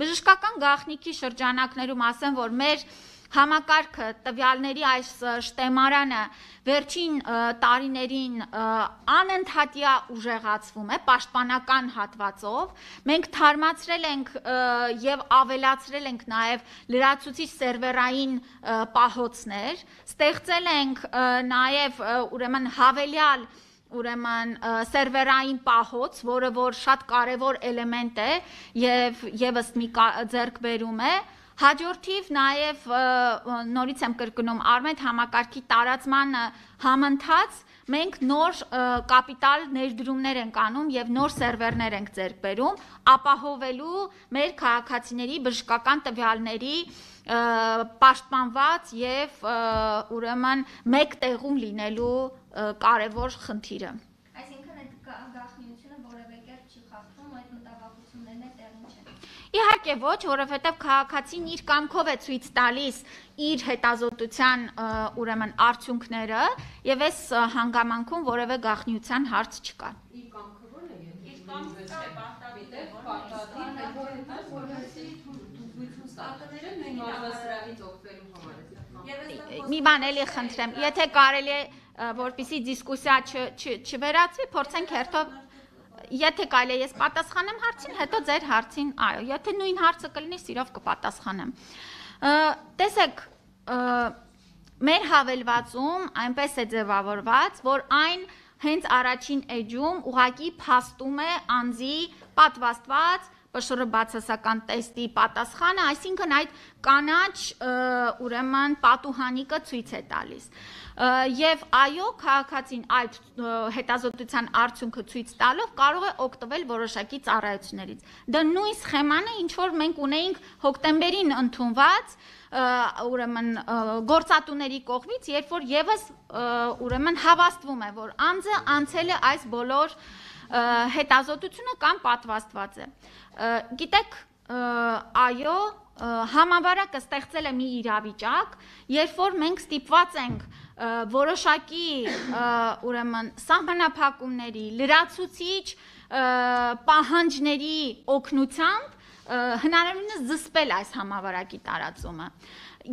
Բժշկական գաղտնիքի շրջանակներում ասեմ, որ մեր համակարգը տվյալների այս շտեմարանը վերջին տարիներին անընդհատյա ուժեղացվում է պաշտպանական հատվածով, մենք թարմացրել ենք եւ ավելացրել ենք նաեւ լրացուցիչ սերվերային պահոցներ, ստեղծել ենք նաեւ ուրեմն հավելյալ սերվերային պահոց, որը որ շատ կարևոր էլեմենտ է եւ եւս մի ձեռքբերում է, հաջորդիվ նաև նորից եմ կրկնում Արմենտ համակարգի տարածման համընթաց մենք նոր կապիտալ ներդրումներ ենք անում եւ նոր սերվերներ ենք ձեռք բերում, ապահովելու մեր քաղաքացիների բժշկական տվյալների պաշտպանված եւ ուրեմն մեկ տեղում լինելու կարևոր խնդիրը։ Այսինքն այդ գաղտնիությունը որևէ կերպ չի խախտվում, այդ մտավախություններն էլ տեղին չեն։ Իհարկե ոչ, որովհետև քաղաքացին իր կամքով է ցույց տալիս իր հետազոտության ուրեմն արդյունքները եւ այս հանգամանքում որևէ գաղտնիության հարց չկա։ Իր կամքը ո՞րն է։ Իր կամքը չէ, Մի բան էլի խնդրեմ, եթե կարելի է որպեսզի դիսկուսիա չվերածվի, փորձենք հերթով Եթե կարելի է ես պատասխանեմ հարցին, հետո ձեր հարցին, այո, եթե նույն հարցը կլինի, սիրով կպատասխանեմ։ Տեսեք, մեր հավելվածում այնպես է ձևավորված, որ այն հենց առաջին էջում ուղղակի փաստում է անձի պատվաստված ՊՇՌ բացասական տեստի պատասխանը, այսինքն այդ կանաչ ուրեմն պատուհանիկը ցույց է տալիս։ Եվ այո, քաղաքացին այդ հետազոտության արդյունքը ցույց տալով կարող է օգտվել որոշակի ծառայություններից։ Դա նույն սխեման է, ինչ որ մենք ունեինք հոկտեմբերին ընդունված ուրեմն գործատուների կողմից, երբ որ եւս ուրեմն հավաստվում է, որ անձը անցել է այս բոլոր հետազոտությունը կամ պատվաստված է։ Գիտեք, այո, համավարակը ստեղծել է մի իրավիճակ, երբ որ մենք ստիպված ենք որոշակի ուրեմն սահմանափակումների, լրացուցիչ պահանջների օգնությամբ հնարավորինս զսպել այս համավարակի տարածումը։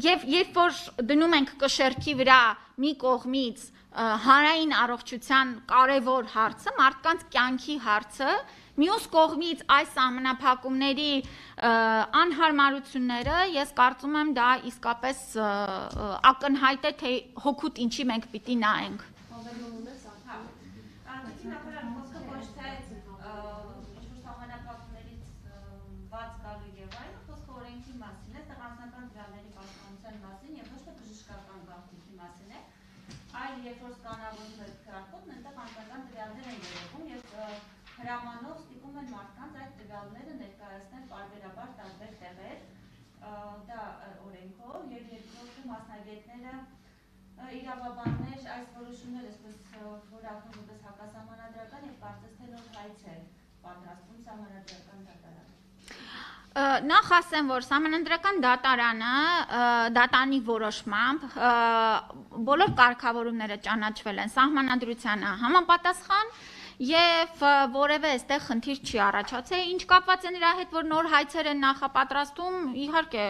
Եվ երբ որ դնում ենք կշեռքի վրա մի կողմից հանրային առողջության կարևոր հարցը, մարդկանց կյանքի հարցը, մյուս կողմից այս սահմանափակումների անհարմարությունները, ես կարծում եմ դա իսկապես ակնհայտ է, թե հոգուտ ինչի մենք պիտի նայենք։ Երբ որ սկանավորում եք քրակոտն, այնտեղ անձնական տվյալներ են երևում եւ հրամանով ստիպում են մարդկանց այդ տվյալները ներկայացնել պարբերաբար տարբեր տեղեր, դա օրենքով եւ երկրորդը մասնագետները իրավաբաններ այս որոշումները այսպես որակում որպես հակասահմանադրական եւ կարծես թե նոր հայց է պատրաստում սահմանադրական դատարանը։ Նախ ասեմ, որ սահմանադրական դատարանը դատարանի որոշմամբ բոլոր կարգավորումները ճանաչվել են սահմանադրությանը համապատասխան եւ որևէ այստեղ խնդիր չի առաջացել, ինչ կապված է նրա հետ, որ նոր հայցեր են նախապատրաստում, իհարկե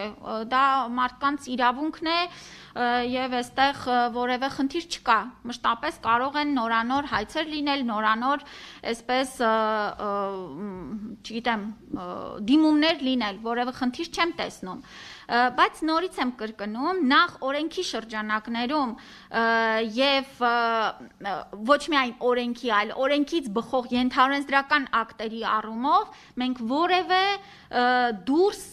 դա մարդկանց իրավունքն է եւ այստեղ որևէ խնդիր չկա, մշտապես կարող են նորանոր հայցեր լինել, նորանոր այսպես չգիտեմ, դիմումներ լինել, որևէ խնդիր չեմ տեսնում, բայց նորից եմ կրկնում, նախ օրենքի շրջանակներում եւ ոչ միայն օրենքի, այլ օրենքից բխող ենթաօրենսդրական ակտերի առումով մենք որևէ դուրս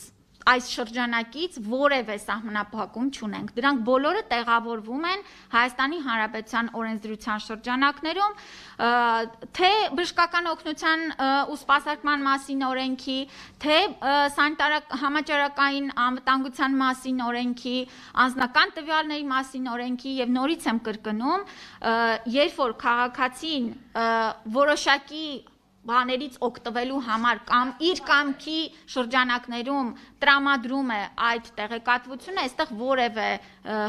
այս շրջանակից որևէ սահմանափակում չունենք։ Դրանք բոլորը տեղավորվում են Հայաստանի Հանրապետության օրենսդրության շրջանակներում, թե բժշկական օգնության ու սպասարկման մասին օրենքի, թե համաճարակային անվտանգության մասին օրենքի, անձնական տվյալների մասին օրենքի եւ նորից եմ կրկնում, երբ որ քաղաքացին որոշակի բաներից օգտվելու համար կամ իր կամքի շրջանակներում տրամադրում է այդ տեղեկատվությունը, այստեղ որևէ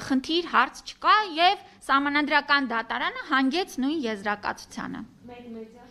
խնդիր հարց չկա եւ սահմանադրական դատարանը հանգեց նույն եզրակացությանը։ Մեկ մեդիա